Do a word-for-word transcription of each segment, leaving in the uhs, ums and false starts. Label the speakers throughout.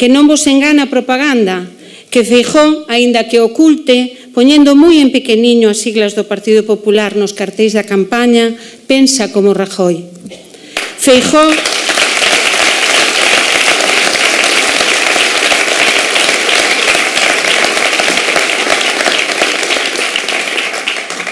Speaker 1: que non vos engana a propaganda, que Feijóo, aínda que oculte, poñendo moi en pequeniño as siglas do Partido Popular nos cartéis da campaña, pensa como Rajoy. Feijóo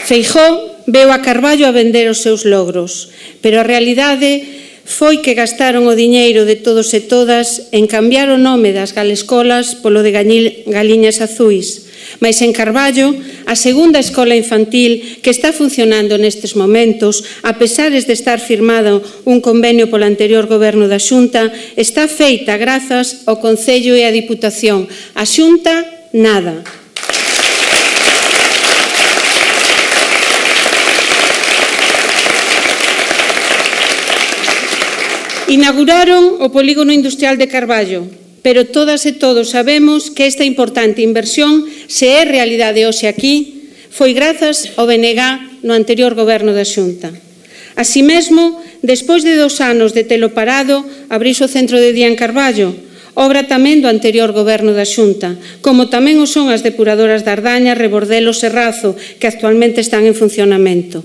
Speaker 1: Feijóo veu a Carballo a vender os seus logros, pero a realidade foi que gastaron o diñeiro de todos e todas en cambiar o nome das galescolas polo de Galiñas Azuis. Mais en Carballo, a segunda escola infantil que está funcionando nestes momentos, a pesar de estar firmado un convenio polo anterior goberno da Xunta, está feita grazas ao Concello e á Diputación. A Xunta, nada. Inauguraron o polígono industrial de Carballo, pero todas e todos sabemos que esta importante inversión, se é realidade hoxe aquí, foi grazas ao B N G no anterior goberno da Xunta. Así mesmo, despois de dos anos de telo parado, abriuse o centro de día en Carballo, obra tamén do anterior goberno da Xunta, como tamén o son as depuradoras de Ardaña, Rebordelo e Serrazo, que actualmente están en funcionamento.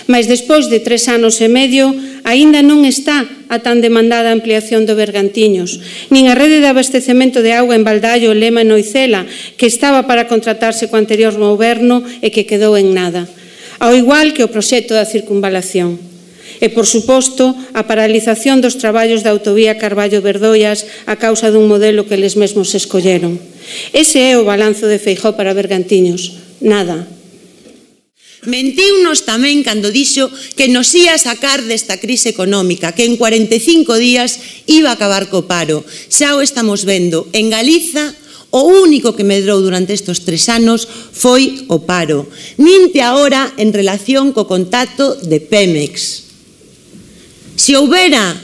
Speaker 1: Mas despois de tres anos e medio, aínda non está a tan demandada ampliación do Bergantiños, nin a rede de abastecemento de auga en Baldallo, Lema e Noicela, que estaba para contratarse co anterior goberno e que quedou en nada, ao igual que o proxecto da circunvalación. E, por suposto, a paralización dos traballos da autovía Carballo-Berdoias a causa dun modelo que eles mesmos escolleron. Ese é o balanzo de Feijóo para Bergantiños. Nada.
Speaker 2: Mentíunos tamén cando dixo que nos ia sacar desta crise económica, que en cuarenta e cinco días iba a acabar co paro. Xa o estamos vendo. En Galiza, o único que medrou durante estes tres anos foi o paro. Ninte agora en relación co contacto de Pemex. Se houbera,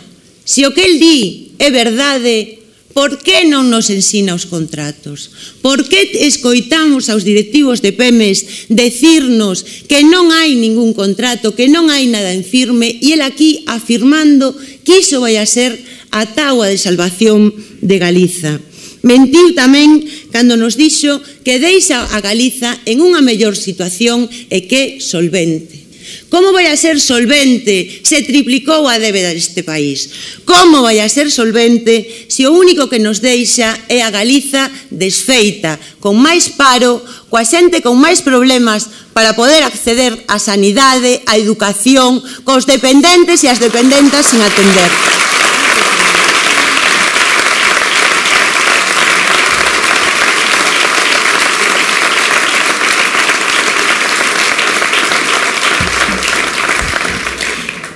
Speaker 2: se o que el di é verdade, por que non nos ensina os contratos? Por que escoitamos aos directivos de Pemex decirnos que non hai ningún contrato, que non hai nada en firme, e el aquí afirmando que iso vai a ser a táboa de salvación de Galiza? Mentiu tamén cando nos dixo que deixa a Galiza en unha mellor situación e que solvente. Como vai a ser solvente se triplicou a débeda deste país? Como vai a ser solvente se o único que nos deixa é a Galiza desfeita, con máis paro, coa xente con máis problemas para poder acceder á sanidade, á educación, cos dependentes e as dependentas sin atender?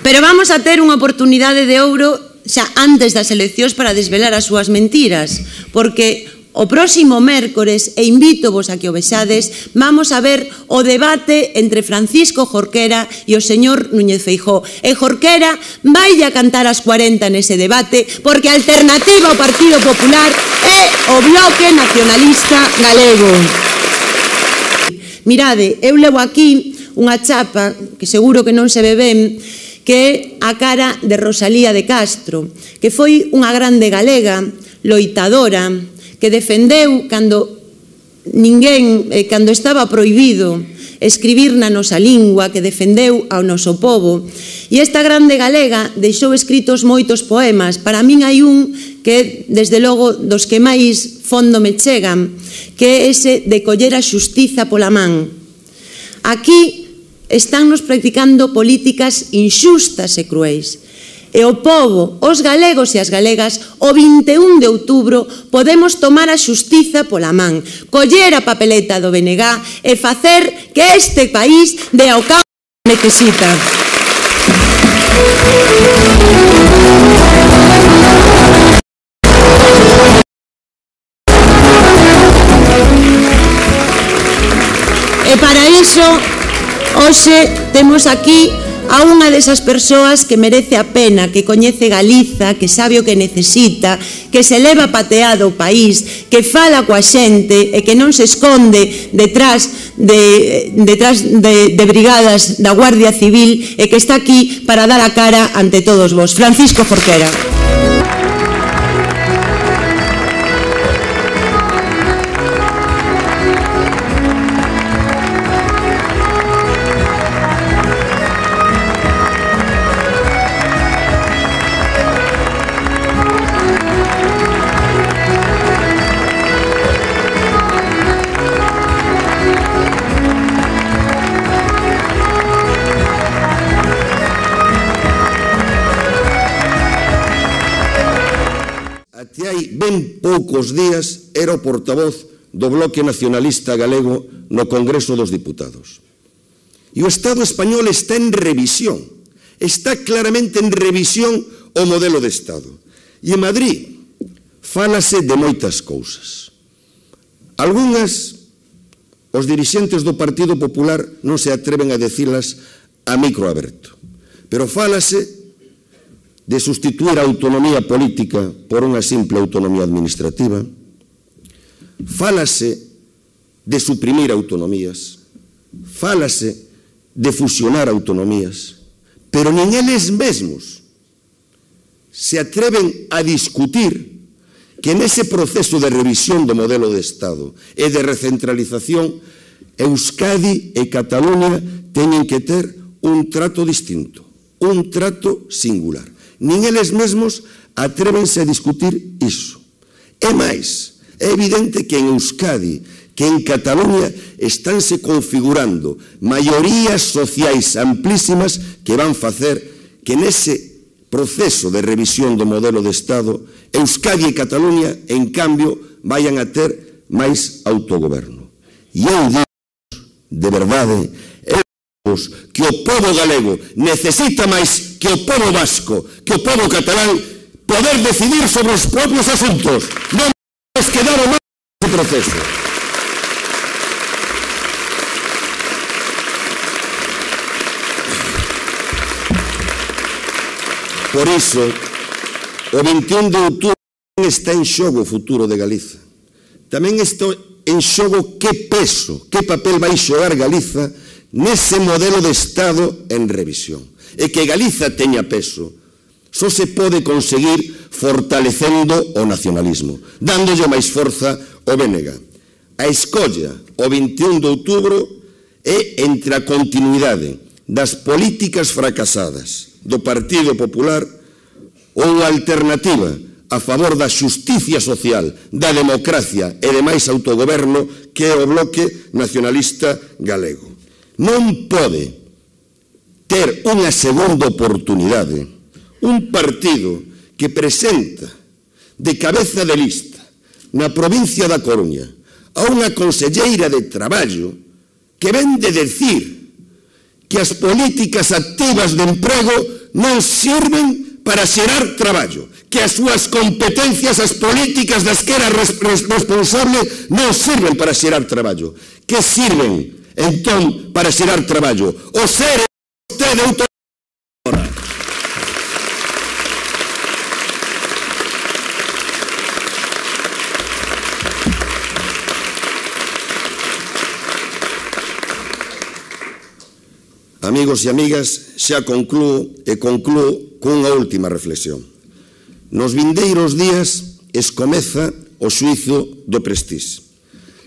Speaker 2: Pero vamos a ter unha oportunidade de ouro xa antes das eleccións para desvelar as súas mentiras, porque o próximo mércores, e invítovos a que o vexades, vamos a ver o debate entre Francisco Jorquera e o señor Núñez Feijóo. E Jorquera vai a cantar as cuarenta nese debate, porque a alternativa ao Partido Popular é o Bloque Nacionalista Galego. Mirade, eu levo aquí unha chapa, que seguro que non se ve ben, que é a cara de Rosalía de Castro, que foi unha grande galega, loitadora, que defendeu cando ninguén, eh, cando estaba prohibido escribir na nosa lingua, que defendeu ao noso povo. E esta grande galega deixou escritos moitos poemas. Para min hai un que, desde logo, dos que máis fondo me chegan, que é ese de coller a xustiza pola man. Aquí estánnos practicando políticas inxustas e cruéis. E o povo, os galegos e as galegas, o vinte e un de outubro podemos tomar a xustiza pola man, coller a papeleta do B N G e facer que este país dé ao cabo que necesita. E para iso, hoxe temos aquí a unha desas persoas que merece a pena, que coñece Galiza, que sabe o que necesita, que se leva pateado o país, que fala coa xente e que non se esconde detrás de, detrás de, de brigadas da Guardia Civil e que está aquí para dar a cara ante todos vos. Francisco Jorquera.
Speaker 3: ben poucos días era o portavoz do Bloque Nacionalista Galego no Congreso dos Diputados. E o Estado español está en revisión, está claramente en revisión o modelo de Estado. E en Madrid fálase de moitas cousas. Algúnas, os dirixentes do Partido Popular non se atreven a dicilas a micro aberto, pero fálase de sustituir a autonomía política por unha simple autonomía administrativa, fálase de suprimir autonomías, fálase de fusionar autonomías, pero nin eles mesmos se atreven a discutir que nese proceso de revisión do modelo de Estado e de recentralización, Euskadi e Cataluña teñen que ter un trato distinto, un trato singular. Nin eles mesmos atrévense a discutir iso. É máis, é evidente que en Euskadi, que en Cataluña estánse configurando maiorías sociais amplísimas que van facer que nese proceso de revisión do modelo de Estado, Euskadi e Cataluña, en cambio, vayan a ter máis autogoberno. E eu digo, de verdade, eu digo que o pobo galego necesita máis que o pobo vasco, que o pobo catalán, poder decidir sobre os propios asuntos. Non nos quedaron máis neste proceso. Por iso, o vinte e un de outubro está en xogo o futuro de Galiza. Tamén está en xogo que peso, que papel vai xogar Galiza nese modelo de Estado en revisión. E que Galiza teña peso só se pode conseguir fortalecendo o nacionalismo, dándolle máis forza ao B N G. A escolla, o vinte e un de outubro, é entre a continuidade das políticas fracasadas do Partido Popular ou unha alternativa a favor da xusticia social, da democracia e de máis autogoberno que é o Bloque Nacionalista Galego. Non pode ter unha segunda oportunidade un partido que presenta de cabeza de lista na provincia da Coruña a unha conselleira de Traballo que ven de decir que as políticas activas de emprego non sirven para xerar traballo, que as súas competencias, as políticas das que era responsable, non sirven para xerar traballo. Que sirven, entón, para xerar traballo? O ser vostede autor... Amigos e amigas, xa conclúo e conclúo cunha última reflexión. Nos vindeiros días escomeza o xuizo do Prestís.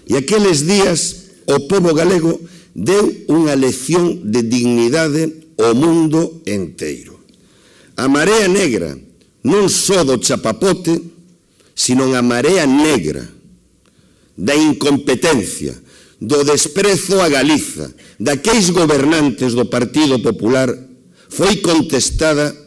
Speaker 3: E aqueles días o pobo galego deu unha lección de dignidade ao mundo enteiro. A marea negra, non só do chapapote, sino a marea negra da incompetencia, do desprezo a Galiza, daqueis gobernantes do Partido Popular, foi contestada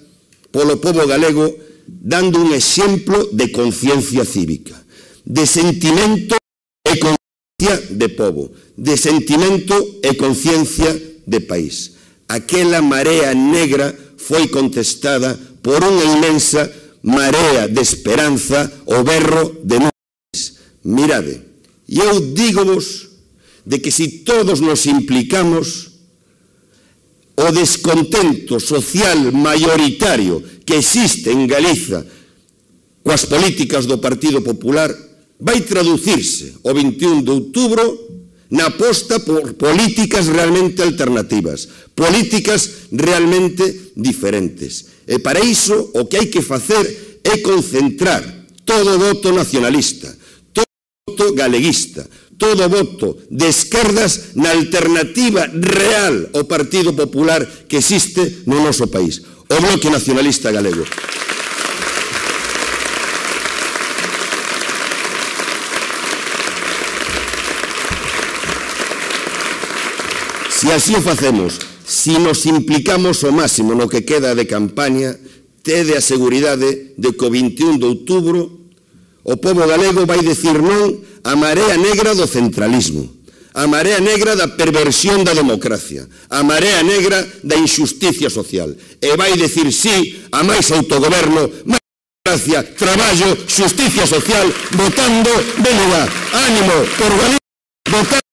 Speaker 3: polo pobo galego dando un exemplo de conciencia cívica, de sentimento e conciencia de pobo, de sentimento e conciencia de país. Aquela marea negra foi contestada por unha inmensa marea de esperanza, o berro de nubes. Mirade, e eu dígovos de que si todos nos implicamos, o descontento social mayoritario que existe en Galiza coas políticas do Partido Popular vai traducirse o vinte e un de outubro na aposta por políticas realmente alternativas, políticas realmente diferentes. E para iso o que hai que facer é concentrar todo o voto nacionalista, todo o voto galeguista, todo o voto de esquerdas na alternativa real ao Partido Popular que existe no noso país, o Bloque Nacionalista Galego. Se así o facemos, se nos implicamos o máximo no que queda de campaña, tede a seguridade de que o vinte e un de outubro O pobo galego vai dicir non a marea negra do centralismo, a marea negra da perversión da democracia, a marea negra da injusticia social. E vai dicir sí a máis autogoberno, máis democracia, traballo, justicia social, votando B N G. Ánimo por Galicia, votando.